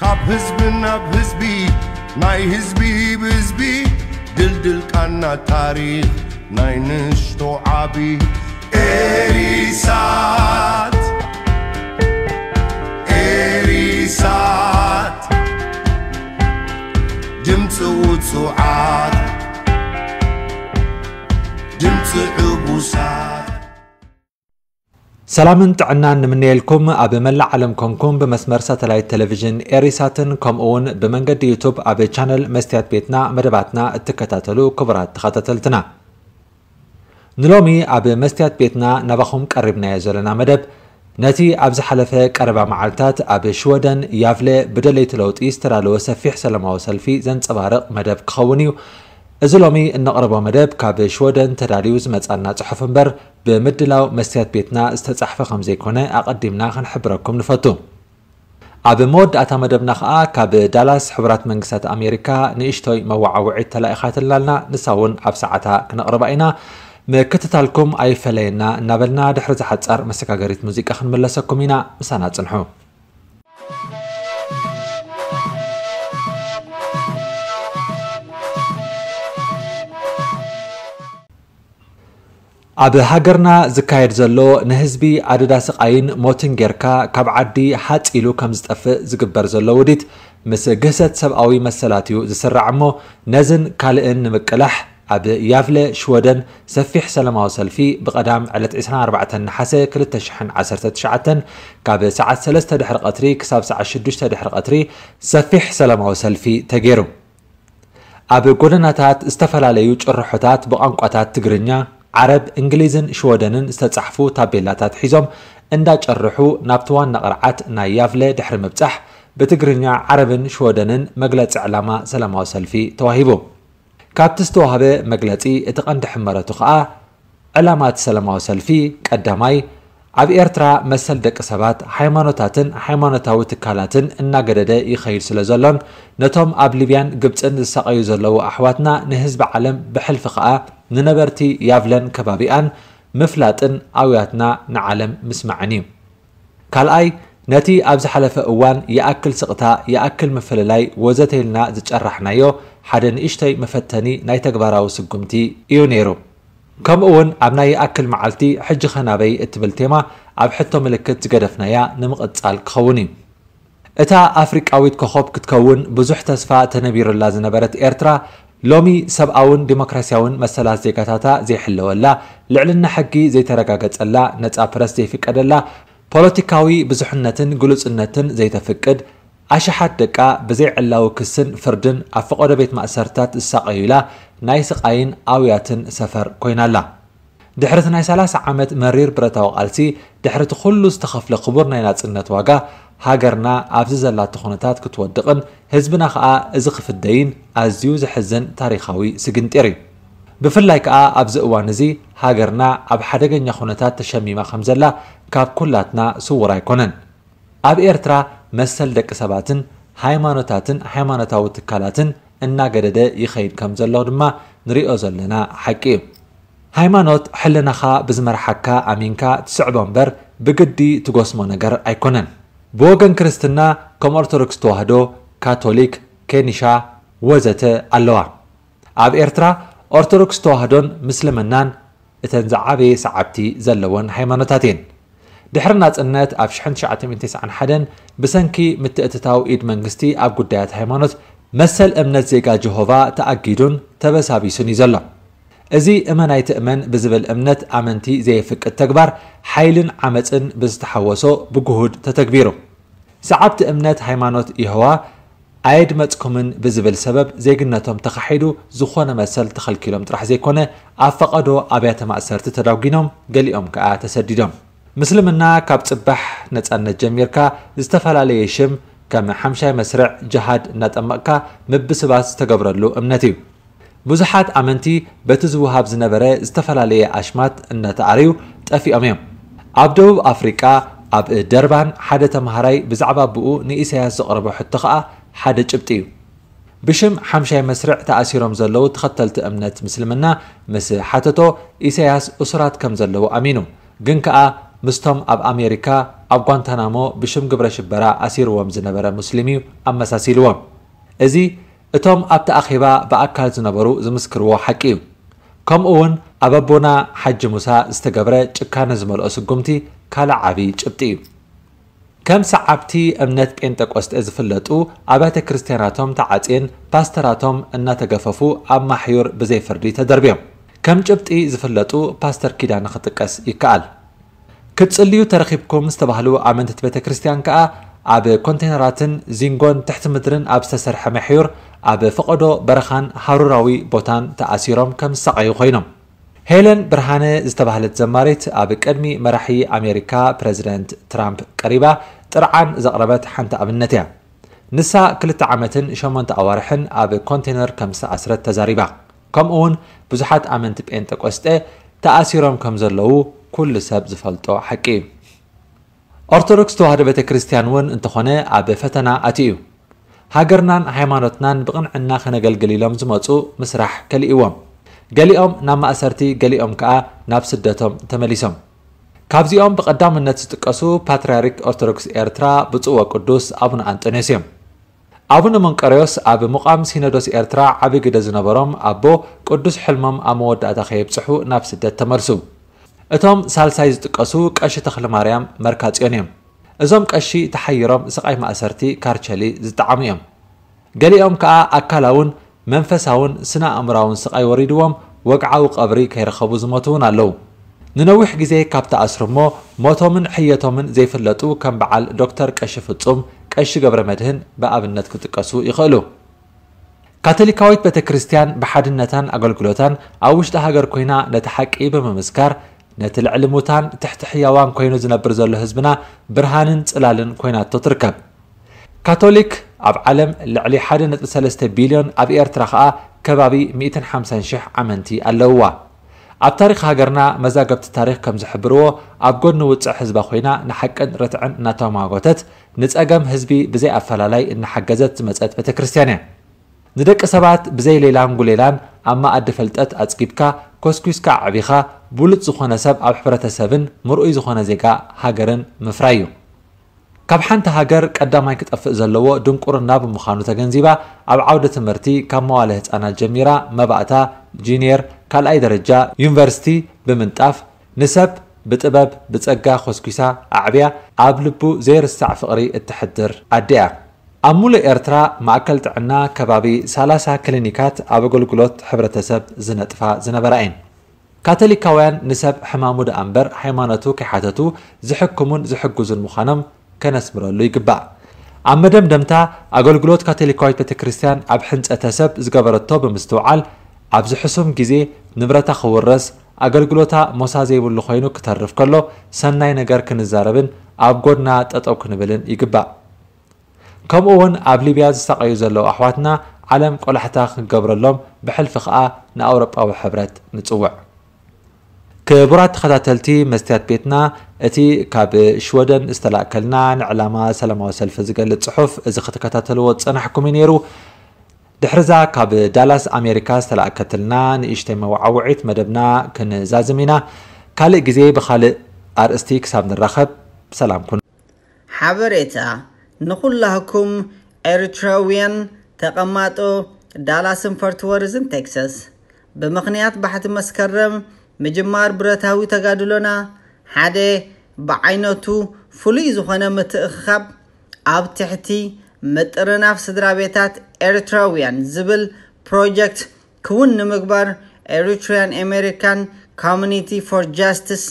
ኣብ ህዝብን ኣብ ህዝቢ ናይ ህዝቢ ብህዝቢ ድልድል ቃና ታሪኽ ናይ ንሽቶ ዓቢ ኤሪሳት ኤሪሳት ድምፂ ውፁዓት ድምፂ ዕቡሳት። ሰላምን ጥዕናን ንምነየልኩም። ኣብ መላእ ዓለም ኮንኩም ብመስመር ሳተላይት ቴሌቪዥን ኤሪሳትን ከምኡ እውን ብመንገዲ ዩቱብ ኣብ ቻነል መስትያት ቤትና መደባትና እትከታተሉ ክቡራት ተኸታተልትና፣ ንሎሚ ኣብ መስትያት ቤትና ናባኹም ቀሪብናዮ ዘለና መደብ ነቲ ኣብ ዝሓለፈ ቀረባ መዓልታት ኣብ ሽወደን ያቭለ ብደለይቲ ለውጢ ዝተዳለወ ሰፊሕ ሰላማዊ ሰልፊ ዘንጸባርቕ መደብ ክኸውን እዩ። እዚ ሎሚ እነቕርቦ መደብ ካብ ሽወደን ተዳልዩ ዝመጻና ጽሑፍ እምበር ብምድላው መስትያት ቤትና ዝተጻሕፈ ከም ዘይኮነ ኣቐዲምና ክንሕብረኩም ንፈቱ። ኣብ መወዳእታ መደብና ኸኣ ካብ ዳላስ ሕቡራት መንግስታት ኣሜሪካ ንእሽቶይ መወዓውዒት ተላኢኻትልና ኣላ። ንሳ እውን ኣብ ሰዓታ ክነቕርባ ኢና። ምክትታልኩም ኣይፈለየና እናበልና ድሕሪ ዝሓጻር መሰጋገሪት ሙዚቃ ክንምለሰኩም ኢና። ምሳና ጽንሑ። ኣብ ሃገርና ዝካየድ ዘሎ ንህዝቢ ኣደዳ ስቓይን ሞትን ጌርካ ካብ ዓዲ ሃጽ ኢሉ ከም ዝጠፍእ ዝግበር ዘሎ ውዲት ምስ ግህሰት ሰብኣዊ መሰላት እዩ ዝስራዕ እሞ ነዝን ካልእን ንምቅላሕ ኣብ ያቭለ ሽወደን ሰፊሕ ሰላማዊ ሰልፊ ብቐዳም ዕለት ዕስራን ኣርባዕተን ነሓሰ ክልተ ሽሕን ዓሰርተ ትሽዓተን ካብ ሰዓት ሰለስተ ድሕሪ ቀትሪ ክሳብ ሰዓት ሽዱሽተ ድሕሪ ቀትሪ ሰፊሕ ሰላማዊ ሰልፊ ተገይሩ። ኣብ ጎደናታት ዝተፈላለዩ ጭርሖታት ብቋንቋታት ትግርኛ፣ ዓረብ፣ እንግሊዝን ሽወደንን ዝተጻሕፉ ታቤላታት ሒዞም እንዳጨርሑ ናብቲ ዋና ቅርዓት ናይ ያቭለ ድሕሪ ምብጻሕ ብትግርኛ፣ ዓረብን ሽወደንን መግለጺ ዕላማ ሰላማዊ ሰልፊ ተዋሂቡ። ካብቲ ዝተዋህበ መግለጺ እቲ ቀንዲ ሕመረቱ ከኣ ዕላማ እቲ ሰላማዊ ሰልፊ ቀዳማይ ኣብ ኤርትራ መሰል ደቂ ሰባት፣ ሃይማኖታትን ሃይማኖታዊ ትካላትን እናገደደ ይኸይድ ስለ ዘሎን ነቶም ኣብ ሊብያን ግብጽን ዝሳቐዩ ዘለዉ ኣሕዋትና ንህዝቢ ዓለም ብሕልፊ ከኣ ንነበርቲ ያቭለን ከባቢኣን ምፍላጥን ኣውያትና ንዓለም ምስማዕን እዩ። ካልኣይ ነቲ ኣብ ዝሓለፈ እዋን ይኣክል ስቕታ፣ ይኣክል ምፍልላይ ወዘተ ኢልና ዝጨራሕናዮ ሓደ ንእሽቶይ መፈተኒ ናይ ተግባራዊ ስጉምቲ እዩ ነይሩ። ከምኡ እውን ኣብ ናይ ይኣክል መዓልቲ ሕጂ ኸ ናበይ እትብል ቴማ ኣብ ሕቶ ምልክት ዝገደፍናያ ንምቕጻል ክኸውን እዩ። እታ ኣፍሪቃዊት ኮኾብ ክትከውን ብዙሕ ተስፋ ተነቢሩላ ዝነበረት ኤርትራ ሎሚ ሰብኣውን ዲሞክራሲያውን መሰላት ዜጋታታ ዘይሕለወላ፣ ልዕልና ሕጊ ዘይተረጋገጸላ፣ ነጻ ፕረስ ዘይፍቀደላ፣ ፖለቲካዊ ብዙሕነትን ግሉጽነትን ዘይተፍቅድ፣ ኣሽሓት ደቃ ብዘይ ዕላዊ ክስን ፍርድን ኣብ ፈቐዶ ቤት ማእሰርትታት ዝሳቐዩላ ናይ ስቓይን ኣውያትን ሰፈር ኮይናላ። ድሕሪ እቲ ናይ ሰላሳ ዓመት መሪር ብረታዊ ቃልሲ፣ ድሕሪ እቲ ኩሉ ዝተኸፍለ ክቡር ናይ ናጽነት ዋጋ፣ ሃገርና ኣብዚ ዘላቶ ኩነታት ክትወድቕን ህዝብና ከኣ እዚ ክፍደይን ኣዝዩ ዘሕዝን ታሪኻዊ ስግንጢር እዩ። ብፍላይ ከኣ ኣብዚ እዋን እዚ ሃገርና ኣብ ሓደገኛ ኩነታት ተሸሚማ ከም ዘላ ካብ ኩላትና ስዉር ኣይኮነን። ኣብ ኤርትራ መሰል ደቂ ሰባትን ሃይማኖታትን ሃይማኖታዊ ትካላትን እናገደደ ይኸይድ ከም ዘሎ ድማ ንሪኦ ዘለና ሓቂ እዩ። ሃይማኖት ሕልናኻ ብዝመርሓካ ኣሚንካ ትስዕቦ እምበር ብግዲ ትጎስሞ ነገር ኣይኮነን። ብወገን ክርስትና ከም ኦርቶዶክስ ተዋህዶ፣ ካቶሊክ፣ ኬኒሻ ወዘተ ኣለዋ። ኣብ ኤርትራ ኦርቶዶክስ ተዋህዶን ምስልምናን እተን ዝዓበየ ሰዓብቲ ዘለወን ሃይማኖታት እየን። ድሕሪ ናጽነት ኣብ ሽሕን ትሽዓተ ሚእትን ተስዓን ሓደን ብሰንኪ ምትእትታው ኢድ መንግስቲ ኣብ ጉዳያት ሃይማኖት መሰል እምነት ዜጋ ጀሆቫ ተኣጊዱን ተበሳቢሱን እዩ ዘሎ። እዚ እመን ኣይትእመን ብዝብል እምነት ኣመንቲ ዘየፍቅድ ተግባር ሓይልን ዓመጽን ብዝተሓወሶ ብግሁድ ተተግቢሩ። ሰዓብቲ እምነት ሃይማኖት የሆዋ ኣየድመጽኩምን ብዝብል ሰበብ ዜግነቶም ተኻሒዱ ዝኾነ መሰል ተኸልኪሎም ጥራሕ ዘይኮነ ኣብ ፈቐዶ ኣብያተ ማእሰርቲ ተዳጒኖም ገሊኦም ከኣ ተሰዲዶም። ምስልምና ካብ ጽባሕ ነጻነት ጀሚርካ ዝተፈላለየ ሽም ከም ሓምሻይ መስርዕ ጅሃድ እናጠመቕካ ምብስባስ ዝተገብረሉ እምነት እዩ። ብዙሓት ኣመንቲ በቲ ዝወሃብ ዝነበረ ዝተፈላለየ ኣሽማት እናተኣረዩ ጠፊኦም እዮም። ኣብ ደቡብ ኣፍሪቃ ኣብ ደርባን ሓደ ተምሃራይ ብዛዕባ ብኡ ንኢሳያስ ዘቕረቦ ሕቶ ከኣ ሓደ ጭብጢ እዩ። ብሽም ሓምሻይ መስርዕ ተኣሲሮም ዘለዉ ተኸተልቲ እምነት ምስልምና ምስ ሓተቶ ኢሳያስ እሱራት ከም ዘለዉ ኣሚኑ። ግን ከኣ ምስቶም ኣብ ኣሜሪካ ኣብ ጓንታናሞ ብሽም ግብረ ሽበራ ኣሲርዎም ዝነበረ ሙስሊም እዩ ኣመሳሲልዎም። እዚ እቶም ኣብቲ ኣኼባ ብኣካል ዝነበሩ ዝምስክርዎ ሓቂ እዩ። ከምኡ እውን ኣብ ኣቦና ሓጂ ሙሳ ዝተገብረ ጭካነ ዝመልኦ ስጉምቲ ካልእ ዓቢ ጭብጢ እዩ። ከም ሰዓብቲ እምነት ጴንጠቆስጠ ዝፍለጡ ኣብያተ ክርስቲያናቶም ተዓጽየን ፓስተራቶም እናተገፈፉ ኣብ ማሕዩር ብዘይ ፍርዲ ተደርብዮም። ከም ጭብጢ ዝፍለጡ ፓስተር ኪዳነ ክጥቀስ ይከኣል። ክትጽልዩ ተረኺብኩም ዝተባህሉ ኣመንትቲ ቤተ ክርስቲያን ከኣ ኣብ ኮንቴነራትን ዚንጎን ትሕቲ ምድርን ኣብ ዝተሰርሐ መሕዩር ኣብ ፈቐዶ በረኻን ሃሩራዊ ቦታን ተኣሲሮም ከም ዝሳቐዩ ኮይኖም። ሄለን ብርሃነ ዝተባህለት ዘማሪት ኣብ ቅድሚ መራሒ ኣሜሪካ ፕረዚደንት ትራምፕ ቀሪባ ጥርዓን ዘቕረበት ሓንቲ ኣብነት እያ። ንሳ ክልተ ዓመትን ሸሞንተ ኣዋርሕን ኣብ ኮንቴነር ከም ዝተኣስረት ተዛሪባ። ከምኡ እውን ብዙሓት ኣመንቲ ጴንጠቆስጠ ተኣሲሮም ከም ዘለዉ ኩሉ ሰብ ዝፈልጦ ሓቂ እዩ። ኦርቶዶክስ ተዋህዶ ቤተ ክርስቲያን እውን እንተኾነ ኣብ ፈተና ኣትዩ እዩ። ሃገርናን ሃይማኖትናን ብቕንዕና ከነገልግል ኢሎም ዝመፁ ምስራሕ ከሊእዎም። ገሊኦም ናብ ማእሰርቲ፣ ገሊኦም ከኣ ናብ ስደቶም ተመሊሶም። ካብዚኦም ብቐዳምነት ዝጥቀሱ ፓትርያርክ ኦርቶዶክስ ኤርትራ ብፁዕ ወቅዱስ ኣቡነ ኣንጦንዮስ እዮም። ኣቡነ መንቀርዮስ ኣብ ምቋም ሲኖዶስ ኤርትራ ዓቢ ግደ ዝነበሮም ኣቦ፣ ቅዱስ ሕልሞም ኣብ መወዳእታ ከየብጽሑ ናብ ስደት ተመልሱ። እቶም ሳልሳይ ዝጥቀሱ ቀሺ ተኽለማርያም መርካጽዮን እዮም። እዞም ቀሺ ተሓይሮም ስቓይ ማእሰርቲ ካርቸሊ ዝጠዓሙ እዮም። ገሊኦም ከኣ ኣካላውን መንፈሳውን ስነ ኣእምራውን ስቓይ ወሪድዎም ወግዓዊ ቀብሪ ከይረኸቡ ዝሞቱ እውን ኣለዉ። ንነዊሕ ግዜ ካብ ተኣስሩ እሞ ሞቶምን ሕየቶምን ዘይፍለጡ ከም በዓል ዶክተር ቀሺ ፍጹም፣ ቀሺ ገብረ መድህን ብኣብነት ክጥቀሱ ይኽእሉ። ካቶሊካዊት ቤተ ክርስቲያን ብሓድነታን ኣገልግሎታን ኣብ ውሽጢ ሃገር ኮይና ነቲ ሓቂ ብምምስካር ነቲ ልዕሊ ሙታን ትሕቲ ሕያዋን ኮይኑ ዝነብር ዘሎ ህዝብና ብርሃንን ጽላልን ኮይናቶ ትርከብ። ካቶሊክ ኣብ ዓለም ልዕሊ ሓደ ነጥቢ ሰለስተ ቢልዮን፣ ኣብ ኤርትራ ኸኣ ከባቢ ሚእትን ሓምሳን ሽሕ ኣመንቲ ኣለውዋ። ኣብ ታሪኽ ሃገርና መዛግብቲ ታሪኽ ከም ዝሕብርዎ ኣብ ጎድኒ ውጽዕ ህዝባ ኮይና ንሓቅን ርትዕን እናተማጎተት ንጸገም ህዝቢ ብዘይ ኣፈላላይ እናሓገዘት ዝመጸት ቤተ ክርስቲያን እያ። ንደቂ ሰባት ብዘይ ሌላን ጉሌላን ኣብ መኣዲ ፍልጠት ኣጽጊብካ ኮስኲስካ ኣዕቢኻ ብሉጽ ዝኾነ ሰብ ኣብ ሕብረተሰብን ምርኡይ ዝኾነ ዜጋ ሃገርን ምፍራይ እዩ። ካብ ሓንቲ ሃገር ቀዳማይ ክጠፍእ ዘለዎ ድንቁርና ብምዃኑ ተገንዚባ ኣብ ዓውደ ትምህርቲ ካብ መዋለ ህጻናት ጀሚራ መባእታ፣ ጂንየር፣ ካልኣይ ደረጃ፣ ዩኒቨርሲቲ ብምንጣፍ ንሰብ ብጥበብ ብጸጋ ኮስኲሳ ኣዕብያ ኣብ ልቡ ዘይርሳዕ ፍቕሪ እተሕድር ኣደ እያ። ኣብ ሙሉእ ኤርትራ ማእከል ጥዕና ከባቢ ሰላሳ ክሊኒካት ኣብ ኣገልግሎት ሕብረተሰብ ዝነጥፋ ዝነበራ እየን። ካቶሊካውያን ንሰብ ሕማሙ ደኣ እምበር ሃይማኖቱ ከይሓተቱ ዝሕክሙን ዝሕግዙን ምዃኖም ከነስምረሉ ይግባእ። ኣብ መደምደምታ ኣገልግሎት ካቶሊካዊት ቤተ ክርስቲያን ኣብ ሕንጸተ ሰብ ዝገበረቶ ብምስትውዓል ኣብዚ ሕሱም ግዜ ንብረታ ክውረስ ኣገልግሎታ ሞሳ ዘይብሉ ኮይኑ ክተርፍ ከሎ ሰናይ ነገር ክንዛረብን ኣብ ጎድና ጠጠው ክንብልን ይግባእ። ከምኡ እውን ኣብ ሊብያ ዝሳቐዩ ዘለዉ ኣሕዋትና ዓለም ቆላሕታ ክገብረሎም ብሕልፊ ከኣ ንኣውሮጳዊ ሕብረት ንጽውዕ። ክቡራት ተኸታተልቲ መስትያት ቤትና፣ እቲ ካብ ሽወደን ዝተላእከልና ንዕላማ ሰላማዊ ሰልፊ ዝገልጽ ጽሑፍ እዚ ክትከታተልዎ ዝጸናሕኩም እዩ ነይሩ። ድሕርዛ ካብ ዳላስ ኣሜሪካ ዝተላእከትልና ንእሽተይ መወዓውዒት መደብና ክንዛዝም ኢና። ካልእ ግዜ ብኻልእ ኣርእስቲ ክሳብ ንራኸብ ሰላም ኩኑ። ሓበሬታ ንኹላህኩም ኤርትራውያን ተቐማጦ ዳላስን ፎርት ወርዝን ቴክሳስ፣ ብምኽንያት ባሕቲ መስከረም ምጅማር ብረታዊ ተጋድሎና ሓደ ብዓይነቱ ፍሉይ ዝኾነ ምትእኽኻብ ኣብ ትሕቲ ምጥርናፍ ስድራ ቤታት ኤርትራውያን ዝብል ፕሮጀክት ክውን ንምግባር ኤሪትሪያን ኣሜሪካን ኮሚኒቲ ፎር ጃስቲስ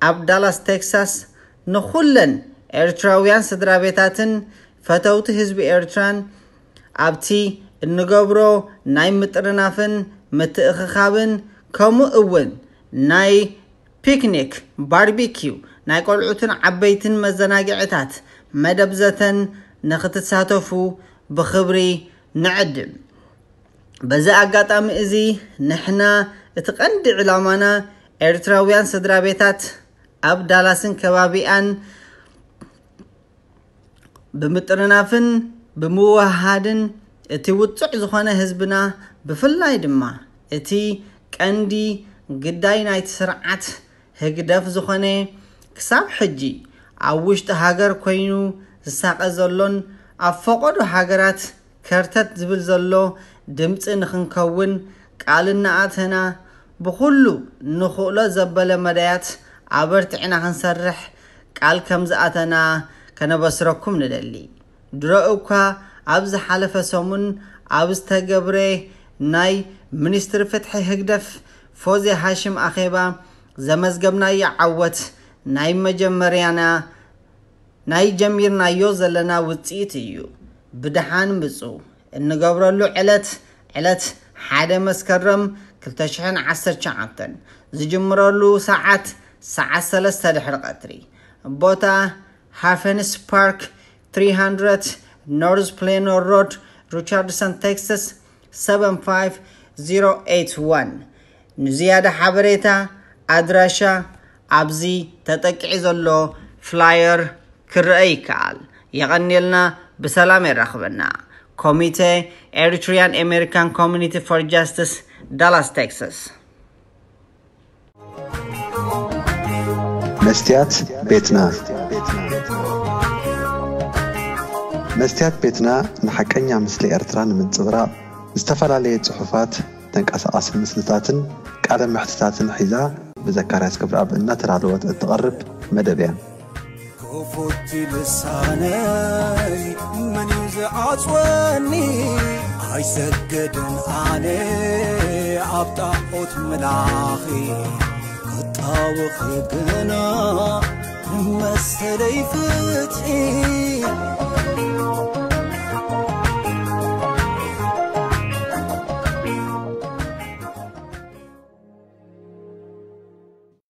ኣብ ዳላስ ቴክሳስ ንኹለን ኤርትራውያን ስድራ ቤታትን ፈተውቲ ህዝቢ ኤርትራን ኣብቲ እንገብሮ ናይ ምጥርናፍን ምትእኽኻብን ከምኡ እውን ናይ ፒክኒክ፣ ባርቢኪው፣ ናይ ቆልዑትን ዓበይትን መዘናግዕታት መደብ ዘተን ንኽትሳተፉ ብኽብሪ ንዕድም። በዚ ኣጋጣሚ እዚ ንሕና እቲ ቀንዲ ዕላማና ኤርትራውያን ስድራ ቤታት ኣብ ዳላስን ከባቢኣን ብምጥርናፍን ብምውህሃድን እቲ ውጹዕ ዝኾነ ህዝብና ብፍላይ ድማ እቲ ቀንዲ ግዳይ ናይቲ ስርዓት ህግደፍ ዝኾነ ክሳብ ሕጂ ኣብ ውሽጢ ሃገር ኮይኑ ዝሳቐ ዘሎን ኣብ ፈቐዶ ሃገራት ከርተት ዝብል ዘሎ ድምፂ ንኽንከውን ቃል እናኣተና፣ ብኹሉ ንኽእሎ ዘበለ መዳያት ኣበርቲዕና ክንሰርሕ ቃል ከም ዝኣተና ከነበስረኩም ንደሊ። ድሮ እኳ ኣብ ዝሓለፈ ሰሙን ኣብ ዝተገብረ ናይ ሚኒስትሪ ፍትሒ ህግደፍ ፎዝያ ሃሽም ኣኼባ ዘመዝገብናዮ ዓወት ናይ መጀመርያና ናይ ጀሚርናዮ ዘለና ውፅኢት እዩ። ብደሓን ምፁ። እንገብረሉ ዕለት ዕለት ሓደ መስከረም ክልተ ሽሕን ዓሰርተ ትሽዓተን ዝጅምረሉ ሰዓት ሰዓት ሰለስተ ድሕሪ ቀትሪ። ቦታ ሃፈንስ ፓርክ ትሪ ሃንድረድ ኖርዝ ፕሌኖ ሮድ፣ ሪቻርድሰን ቴክሳስ ሰቨን ፋይቭ ዜሮ ኤይት ዋን። ንዝያዳ ሓበሬታ ኣድራሻ ኣብዚ ተጠቂዑ ዘሎ ፍላየር ክረአ ይከኣል። የቐንየልና፣ ብሰላም የራኽበና። ኮሚቴ ኤሪትሪያን ኣሜሪካን ኮሚኒቲ ፎር ጃስቲስ፣ ዳላስ ቴክሳስ። መስትያት ቤትና። መስትያት ቤትና ንሓቀኛ ምስሊ ኤርትራ ንምንጽብራቕ ዝተፈላለየ ጽሑፋት፣ ተንቀሳቓሲ ምስልታትን ቃለ መሕትታትን ሒዛ ብዘካርያስ ክብረኣብ እናተዳለወት እትቐርብ መደብ እያ። ክፉት ልሳነይ መን እዩ ዝዓጽወኒ? ኣይሰግድን ኣነ ኣብ ጣዖት ምላኺ፣ ክጣወኺ ግና መሰለይ ፍትሒ።